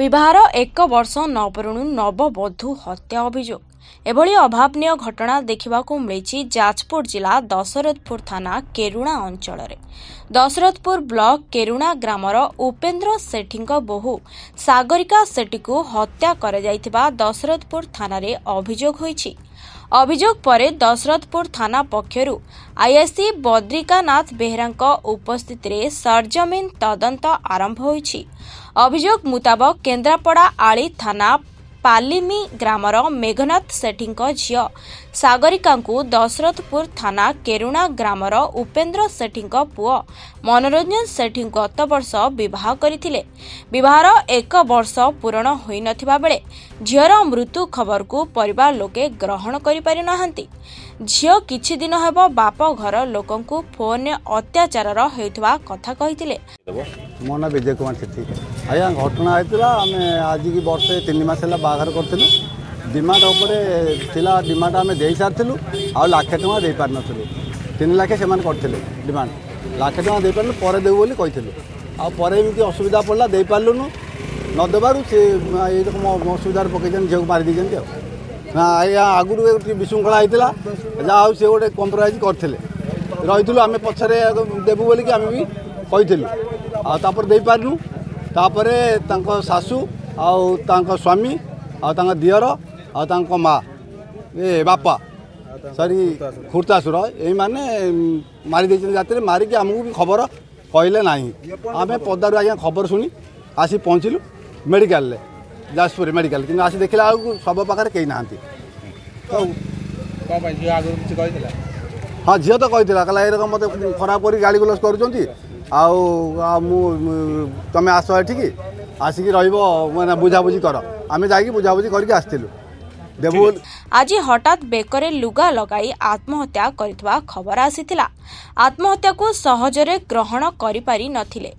ବିବାହର ଏକ ବର୍ଷ ନ ପୂରୁଣୁ ନବବଧୂ ହତ୍ୟା ଅଭିଯୋଗ। ଏଭଳି ଅଭାବନୀୟ ଘଟଣା ଦେଖିବାକୁ ମିଳିଛି ଯାଜପୁର ଜିଲ୍ଲା ଦଶରଥପୁର ଥାନା କେରୁଣା ଅଞ୍ଚଳରେ। ଦଶରଥପୁର ବ୍ଲକ କେରୁଣା ଗ୍ରାମର ଉପେନ୍ଦ୍ର ସେଠୀଙ୍କ ବୋହୂ ସାଗରିକା ସେଠୀକୁ ହତ୍ୟା କରାଯାଇଥିବା ଦଶରଥପୁର ଥାନାରେ ଅଭିଯୋଗ ହୋଇଛି। ଅଭିଯୋଗ ପରେ ଦଶରଥପୁର ଥାନା ପକ୍ଷରୁ ଆଇଆଇସି ବଦ୍ରିକାନାଥ ବେହେରାଙ୍କ ଉପସ୍ଥିତିରେ ସରଜମିନ ତଦନ୍ତ ଆରମ୍ଭ ହୋଇଛି। ଅଭିଯୋଗ ମୁତାବକ କେନ୍ଦ୍ରାପଡ଼ା ଆଳି ଥାନା ପାଲିମି ଗ୍ରାମର ମେଘନାଥ ସେଠୀଙ୍କ ଝିଅ ସାଗରିକାଙ୍କୁ ଦଶରଥପୁର ଥାନା କେରୁଣା ଗ୍ରାମର ଉପେନ୍ଦ୍ର ସେଠୀଙ୍କ ପୁଅ ମନୋରଞ୍ଜନ ସେଠୀ ଗତବର୍ଷ ବିବାହ କରିଥିଲେ। ବିବାହର ଏକ ବର୍ଷ ପୂରଣ ହୋଇନଥିବା ବେଳେ ଝିଅର ମୃତ୍ୟୁ ଖବରକୁ ପରିବାର ଲୋକେ ଗ୍ରହଣ କରିପାରିନାହାନ୍ତି। ଝିଅ କିଛି ଦିନ ହେବ ବାପ ଘର ଲୋକଙ୍କୁ ଫୋନରେ ଅତ୍ୟାଚାରର ହେଉଥିବା କଥା କହିଥିଲେ। ମୋ ନାଁ ବିଜୟ କୁମାର ସେଠୀ। ଆଜ୍ଞା, ଘଟଣା ହେଇଥିଲା, ଆମେ ଆଜିକି ବର୍ଷେ 3 ମାସ ହେଲା ବାହାଘର କରିଥିଲୁ। ଡିମାଣ୍ଡ ଉପରେ ଥିଲା, ଡିମାଣ୍ଡ ଆମେ ଦେଇସାରିଥିଲୁ, ଆଉ ଲାକ୍ଷେ ଟଙ୍କା ଦେଇପାରିନଥିଲୁ। 3 ଲକ୍ଷ ସେମାନେ କରିଥିଲେ ଡିମାଣ୍ଡ, ଲାକ୍ଷେ ଟଙ୍କା ଦେଇପାରିଲୁ, ପରେ ଦେବୁ ବୋଲି କହିଥିଲୁ। ଆଉ ପରେ ଏମିତି ଅସୁବିଧା ପଡ଼ିଲା, ଦେଇପାରିଲୁନୁ। ନ ଦେବାରୁ ସେ ଏଇରକମ ଅସୁବିଧାରେ ପକେଇଛନ୍ତି, ଝିଅକୁ ମାରି ଦେଇଛନ୍ତି। ଆଉ ନା ଆଜ୍ଞା, ଆଗରୁ ଟିକେ ବିଶୃଙ୍ଖଳା ହେଇଥିଲା, ଯାହା ହଉ ସେ ଗୋଟେ କମ୍ପ୍ରମାଇଜ୍ କରିଥିଲେ, ରହିଥିଲୁ ଆମେ, ପଛରେ ଦେବୁ ବୋଲିକି ଆମେ ବି କହିଥିଲୁ। ଆଉ ତାପରେ ଦେଇପାରିଲୁ। ତାପରେ ତାଙ୍କ ଶାଶୁ ଆଉ ତାଙ୍କ ସ୍ୱାମୀ ଆଉ ତାଙ୍କ ଦିଅର ଆଉ ତାଙ୍କ ମା ଏ ବାପା ସରି ଖୁର୍ତ୍ତାସୁର ଏଇମାନେ ମାରି ଦେଇଛନ୍ତି ରାତିରେ। ମାରିକି ଆମକୁ ବି ଖବର କହିଲେ ନାହିଁ। ଆମେ ପଦାରୁ ଆଜ୍ଞା ଖବର ଶୁଣି ଆସି ପହଞ୍ଚିଲୁ ମେଡ଼ିକାଲରେ, ଯାଜପୁର ମେଡ଼ିକାଲ। କିନ୍ତୁ ଆସି ଦେଖିଲା ବେଳକୁ ଶବ ପାଖରେ କେହି ନାହାନ୍ତି। ତ ହଁ, ଝିଅ ତ କହିଥିଲା, କହିଲା ଏରକମ ମୋତେ ଖରାପ କରି ଗାଳି ଗୁଲଜ କରୁଛନ୍ତି, ଆଉ ମୁଁ ତମେ ଆସ ଏଠିକି, ଆସିକି ରହିବ, ମାନେ ବୁଝାବୁଝି କର। ଆମେ ଯାଇକି ବୁଝାବୁଝି କରିକି ଆସିଥିଲୁ ଦେବୁ। ଆଜି ହଠାତ୍ ବେକରେ ଲୁଗା ଲଗାଇ ଆତ୍ମହତ୍ୟା କରିଥିବା ଖବର ଆସିଥିଲା। ଆତ୍ମହତ୍ୟାକୁ ସହଜରେ ଗ୍ରହଣ କରିପାରି ନଥିଲେ।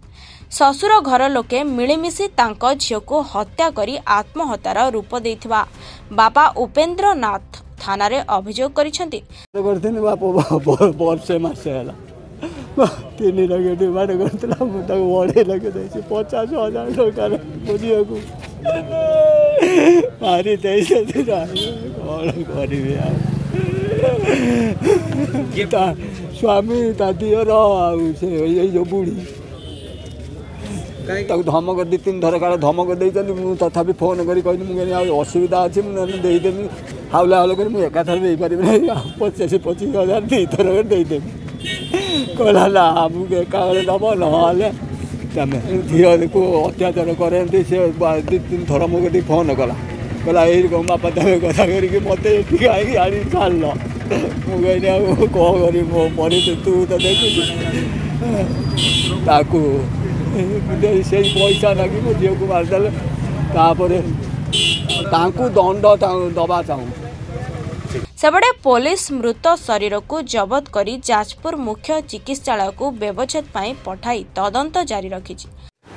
ଶ୍ୱଶୁର ଘର ଲୋକେ ମିଳିମିଶି ତାଙ୍କ ଝିଅକୁ ହତ୍ୟା କରି ଆତ୍ମହତ୍ୟାର ରୂପ ଦେଇଥିବା ବାପା ଉପେନ୍ଦ୍ର ନାଥ ଥାନାରେ ଅଭିଯୋଗ କରିଛନ୍ତି। କରିଥିଲି ବାପ, ବର୍ଷେ ମାସେ ହେଲା 3 ଲକ୍ଷ ଡିମାଣ୍ଡ କରିଥିଲା, ମୁଁ ତାକୁ 2.5 ଲକ୍ଷ ଦେଇଛି। 50,000 ଟଙ୍କାର ମୋ ଝିଅକୁ ମାରି ଦେଇଛନ୍ତି। କ'ଣ କରିବି? ଆଉ ତା ସ୍ୱାମୀ, ତା ଦିଅର ଆଉ ସେ ଏଇ ଯେଉଁ ବୁଢ଼ୀ ତାକୁ ଧମକ 2 3 ଥର କାଳେ ଧମକ ଦେଇଛନ୍ତି। ମୁଁ ତଥାପି ଫୋନ୍ କରି କହିଲି, ମୁଁ କହିଲି ଆଉ ଅସୁବିଧା ଅଛି, ମୁଁ ନହେଲେ ଦେଇଦେବି ହାଉଲା ହାଉଲା କରି, ମୁଁ ଏକାଥରେ ଦେଇପାରିବି ନାହିଁ, ଆଉ 25 25 ହଜାର 2 ଥର ଦେଇଦେବି। କହିଲା ନା, ଆମକୁ ଏକାବେଳେ ଦେବ, ନହେଲେ ତମେ ଝିଅକୁ ଅତ୍ୟାଚାର କରନ୍ତି। ସେ 2 3 ଥର ମୋ କତିକି ଫୋନ୍ କଲା, କହିଲା ଏଇ ବାପା ତମେ କଥା କରିକି ମୋତେ ଏଠିକି ଆଣିକି ଆଣି ଛାଡ଼ିଲ। ମୁଁ କହିଲି ଆଉ କ'ଣ କରିବି, ମୋ ପରିସ୍ଥିତି ତୁ ତ ଦେଖୁଛୁ। ତାକୁ ସେଇ ପଇସା ନାଗି ମୋ ଝିଅକୁ ମାରିଦେଲେ। ତାପରେ ତାଙ୍କୁ ଦଣ୍ଡ ଦେବା ଚାହୁଁଛୁ। ସେପଟେ ପୋଲିସ ମୃତ ଶରୀରକୁ ଜବତ କରି ଯାଜପୁର ମୁଖ୍ୟ ଚିକିତ୍ସାଳୟକୁ ବ୍ୟବଚ୍ଛେଦ ପାଇଁ ପଠାଇ ତଦନ୍ତ ଜାରି ରଖିଛି।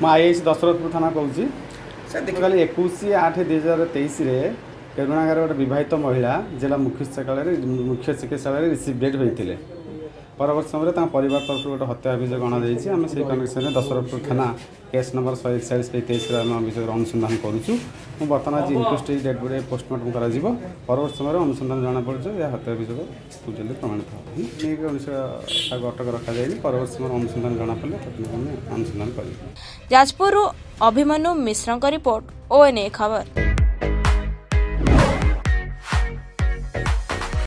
ମୁଁ ଆଇଆଇସି ଦଶରଥପୁର ଥାନା କହୁଛି। କାଲି 21/8/2023ରେ କେରୁଣାଗାର ଗୋଟେ ବିବାହିତ ମହିଳା ଜିଲ୍ଲା ମୁଖ୍ୟ ଚିକିତ୍ସାଳୟରେ ରିସିଭ୍ ଡେଟ୍ ହୋଇଥିଲେ। ପରବର୍ତ୍ତୀ ସମୟରେ ତାଙ୍କ ପରିବାର ତରଫରୁ ଗୋଟେ ହତ୍ୟା ଅଭିଯୋଗ ଅଣାଯାଇଛି। ଆମେ ସେଇ କନେକ୍ସନରେ ଦଶରଥପୁର ଥାନା କେସ୍ ନମ୍ବର 141/23ରେ ଆମେ ଅଭିଯୋଗର ଅନୁସନ୍ଧାନ କରୁଛୁ। ମୁଁ ବର୍ତ୍ତମାନ ଆଜି ଇନକ୍ୱେଷ୍ଟ ଡେଡ୍ ବଡି ପୋଷ୍ଟମର୍ଟମ୍ କରାଯିବ। ପରବର୍ତ୍ତୀ ସମୟରେ ଅନୁସନ୍ଧାନ ଜଣାପଡ଼ୁଛି ଏହା ହତ୍ୟା ଅଭିଯୋଗ ଜଲ୍ଦି ପ୍ରମାଣିତ ହେବ। କୌଣସି ତାକୁ ଅଟକ ରଖାଯାଇନି। ପରବର୍ତ୍ତୀ ସମୟରେ ଅନୁସନ୍ଧାନ ଜଣାପଡ଼ିଲେ ତାକୁ ଆମେ ଅନୁସନ୍ଧାନ କରିବୁ। ଯାଜପୁରରୁ ଅଭିମନ୍ୟୁ ମିଶ୍ରଙ୍କ ରିପୋର୍ଟ, ଓଏନ୍ଏ ଖବର।